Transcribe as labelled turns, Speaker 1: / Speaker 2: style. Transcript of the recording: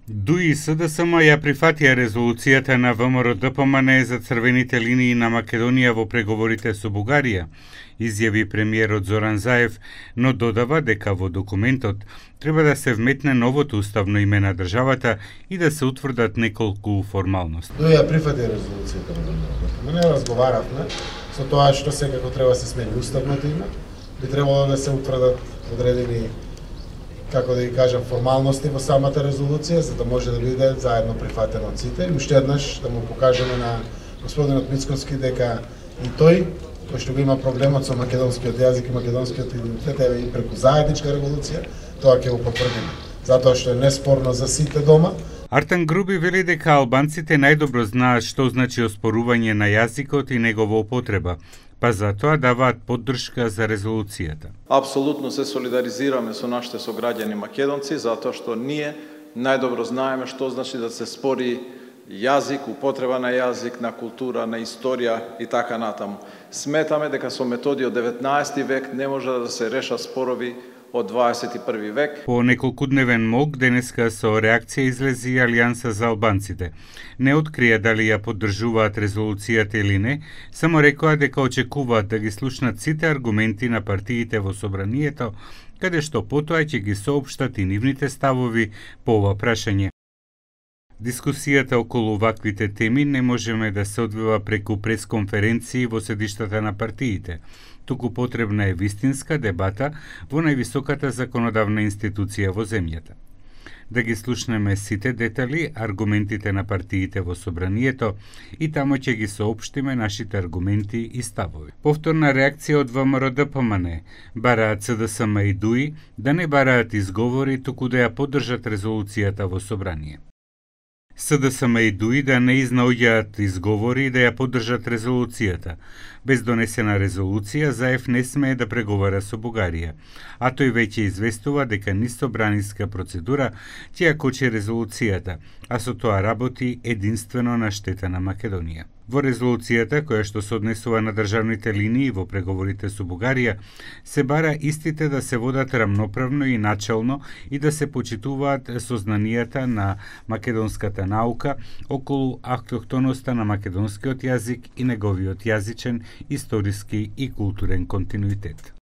Speaker 1: ДУИ и СДСМ ја прифатија резолуцијата на ВМРО-ДПМН за црвените линии на Македонија во преговорите со Бугарија, изјави премиерот Зоран Заев, но додава дека во документот треба да се вметне новото уставно име на државата и да се утврдат неколку формалности.
Speaker 2: ДУИ ја прифати резолуцијата на ВМРО-ДПМН, разговаравме со тоа што секако треба да се смени уставното име, би требало да се утврдат одредени, како да ги кажам, формалности во самата резолуција, за да може да биде заедно прифатено од сите. И уште еднаш да му покажеме на господинот Мицкоски дека и тој, кој што го има проблемот со македонскиот јазик и македонскиот идентитет, еве и преку заедничка револуција, тоа ќе го потврдиме. Затоа што е неспорно за сите дома.
Speaker 1: Артан Груби вели дека албанците најдобро знаат што значи оспорување на јазикот и негова употреба, па затоа даваат поддршка за резолуцијата.
Speaker 3: Апсолутно се солидаризираме со нашите сограѓани македонци, затоа што ние најдобро знаеме што значи да се спори јазик, употреба на јазик, на култура, на историја и така натаму. Сметаме дека со методи од 19 век не може да се решат спорови од 21 век.
Speaker 1: По неколкудневен мок денеска со реакција излези Алијанса за албанците. Не открија дали ја поддржуваат резолуцијата или не, само рекоа дека очекуваат да ги слушнат сите аргументи на партиите во собранието, каде што потоа ќе ги соопштат и нивните ставови по ова прашање. Дискусијата околу ваквите теми не можеме да се одвива преку пресконференции во седиштата на партиите, туку потребна е вистинска дебата во највисоката законодавна институција во земјата. Да ги слушнеме сите детали, аргументите на партиите во собранието и тамо ќе ги соопштиме нашите аргументи и ставови. Повторна реакција од ВМРО-ДПМН, бараат СДСМ и ДУИ да не бараат изговори, туку да ја поддржат резолуцијата во собрание. СДСМ и ДУИ да не изнаоѓаат изговори и да ја поддржат резолуцијата. Без донесена резолуција, Заев не смее да преговара со Бугарија, а тој веќе известува дека низ собраниска процедура ќе ја кочи резолуцијата, а со тоа работи единствено на штета на Македонија. Во резолуцијата, која што се однесува на државните линии во преговорите со Бугарија, се бара истите да се водат рамноправно и начелно и да се почитуваат сознанијата на македонската наука околу автохтоноста на македонскиот јазик и неговиот јазичен, историски и културен континуитет.